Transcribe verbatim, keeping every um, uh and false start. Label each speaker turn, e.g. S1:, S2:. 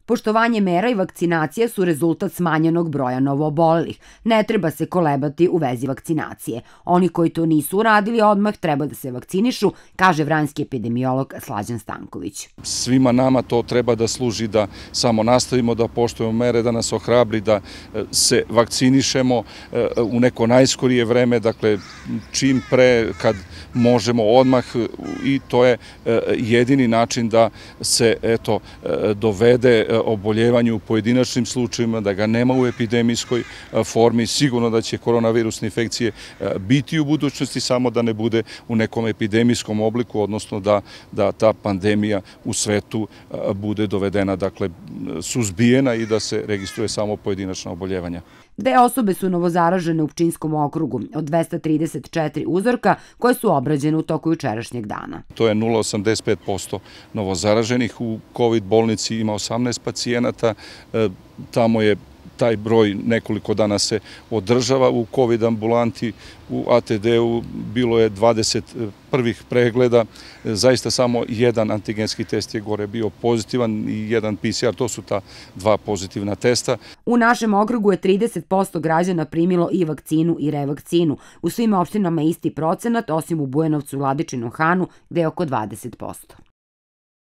S1: Poštovanje mera i vakcinacija su rezultat smanjenog broja novoobolelih. Ne treba se kolebati u vezi vakcinacije. Oni koji to nisu uradili odmah treba da se vakcinišu, kaže vranjski epidemiolog Slađan Stanković.
S2: Svima nama to treba da služi da samo nastavimo da poštujemo mere, da nas ohrabri, da se vakcinišemo u neko najskorije vreme, dakle čim pre kad možemo odmah, i to je jedini način da se eto dovede oboljevanje u pojedinačnim slučajevima, da ga nema u epidemijskoj formi. Sigurno da će koronavirusne infekcije biti u budućnosti, samo da ne bude u nekom epidemijskom obliku, odnosno da, da ta pandemija u svetu bude dovedena, dakle suzbijena i da se registruje samo pojedinačna oboljevanja.
S1: Dve osobe su novozaražene u Pčinjskom okrugu od dvesta trideset četiri uzorka koje su obrađene u toku jučerašnjeg dana.
S2: To je nula zarez osamdeset pet posto novozaraženih. U COVID bolnici ima osamnaest pacijenata. Tamo je taj broj nekoliko dana se održava u COVID ambulanti. U A T D-u bilo je dvadeset prvih pregleda, zaista samo jedan antigenski test je gore bio pozitivan i jedan P C R, to su ta dva pozitivna testa.
S1: U našem okrugu je trideset posto građana primilo i vakcinu i revakcinu. U svim opštinama isti procenat, osim u Bujanovcu, Vladičinom Hanu, gde je oko dvadeset posto.